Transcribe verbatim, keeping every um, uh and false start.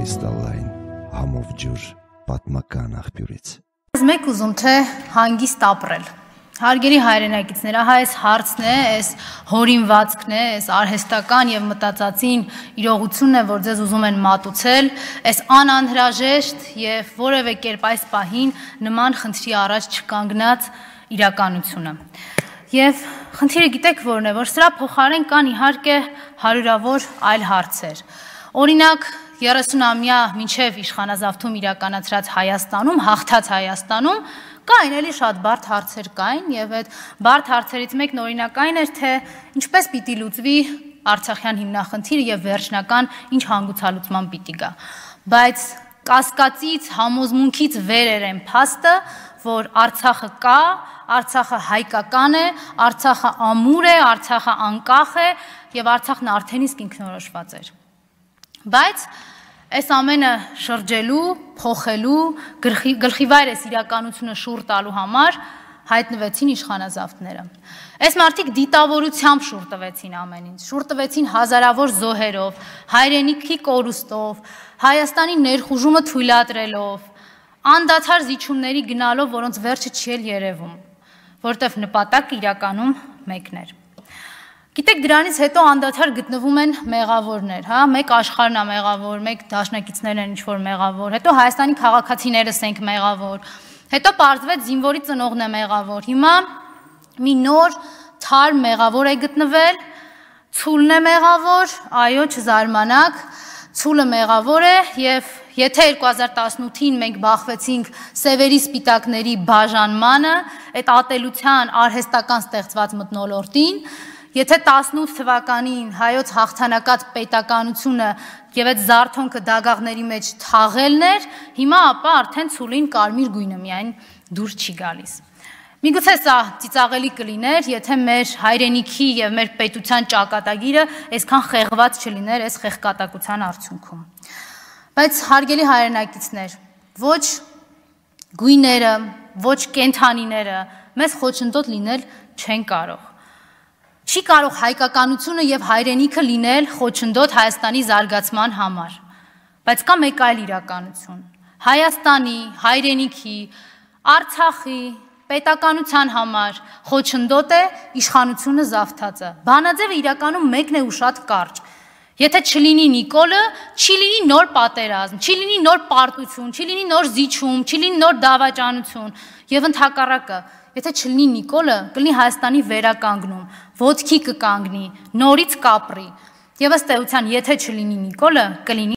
կրիստալային համով ջուր պատմական աղբյուրից։ Մեկ ուզում թե հանգիստ ապրել։ Հարգելի հայրենակիցներ, ահա այս հարցն է, այս հորինվածքն է, այս արհեստական եւ մտածածին իրողությունն է, որ ձեզ ուզում են մատուցել, այս անանհրաժեշտ եւ որևէ կերպ այս պահին նման խնդրի առաջ չկանգնած իրականությունը։ Եվ խնդիրը գիտեք որն է, որ սրա փոխարեն կան իհարկե հարյուրավոր այլ հարցեր։ Օրինակ երեսունամյա մինչև իշխանազավթում իրականացրած Հայաստանում, հաղթած Հայաստանում կային էլի շատ բարդ հարցեր կային եւ այդ բարդ հարցերից մեկն օրինակ այն էր, թե ինչպես պիտի լուծվի Արցախյան հիմնախնդիրը եւ վերջնական ինչ հանգուցալուծման պիտի գա։ Բայց կասկածից, համոզմունքից վեր էր այն փաստը, որ Արցախը կա, Արցախը հայկական է, Արցախը ամուր է, Արցախը անկախ է եւ Արցախն արդեն իսկ ինքնորոշված էր։ Բայց այս ամենը շրջելու, փոխելու, գլխիվայր այս իրականությունը շուռ տալու համար հայտնվեցին իշխանազավթները։ Այս մարդիկ դիտավորությամբ շուռ տվեցին ամեն ինչ, շուռ տվեցին հազարավոր զոհերով, հայրենիքի կորուստով, Հայաստանի ներխուժումը թույլատրելով, անդադար զիջումների գնալով, որոնց վերջը չի էլ երևում, որտեվ նպատակը իրականում մեկն էր։ Գիտեք, դրանից հետո անդադար գտնվում են մեղավորներ, հա, մեկ աշխարհն է մեղավոր, մեկ դաշնակիցներն են ինչ-որ մեղավոր, հետո Հայաստանի քաղաքացիներս ենք մեղավոր, հետո պարզվեց զինվորի ծնողն է մեղավոր, հիմա մի նոր թարմ մեղավոր է գտնվել, Ցուլն է մեղավոր, այո, չզարմանաք, Ցուլը մեղավոր է եւ եթե երկու հազար տասնութին մենք բախվեցինք սևերի սպիտակների բաժանմանը, այդ ատելության արհեստական ստեղծված մթնոլորտին, եթե տասնութ թվականին հայոց հաղթանակած պետականությունը եւ այդ զարթոնքը դագաղների մեջ թաղելն էր, հիմա ապա արդեն Ցուլին կարմիր գույնը միայն դուրս չի գալիս։ Միգուցե սա ծիծաղելի կլիներ, եթե մեր հայրենիքի եւ մեր պետության ճակատագիրը այսքան խեղված չլիներ այս խեղկատակության արդյունքում։ Բայց հարգելի հայրենակիցներ, ոչ գույները, ոչ կենթանիները մեզ խոչընդոտ լինել չեն կարող։ Չի կարող հայկականությունը եւ հայրենիքը լինել խոչընդոտ Հայաստանի զարգացման համար։ Բայց կա մեկ այլ իրականություն։ Հայաստանի, հայրենիքի, Արցախի պետականության համար խոչընդոտ է իշխանությունը զավթածը։ Բանաձևը իրականում մեկն է ու շատ կարճ։ Եթե չլինի Նիկոլը, չի լինի նոր պատերազմ, չի լինի նոր պարտություն, չի լինի նոր զիջում, չի լինի նոր դավաճանություն եւ ընդհակառակը, եթե չլինի Նիկոլը, կլինի Հայաստանի վերականգնում, ոտքի կկանգնի, նորից կապրի։ Եվ ըստ էության, եթե չլինի Նիկոլը, կլինի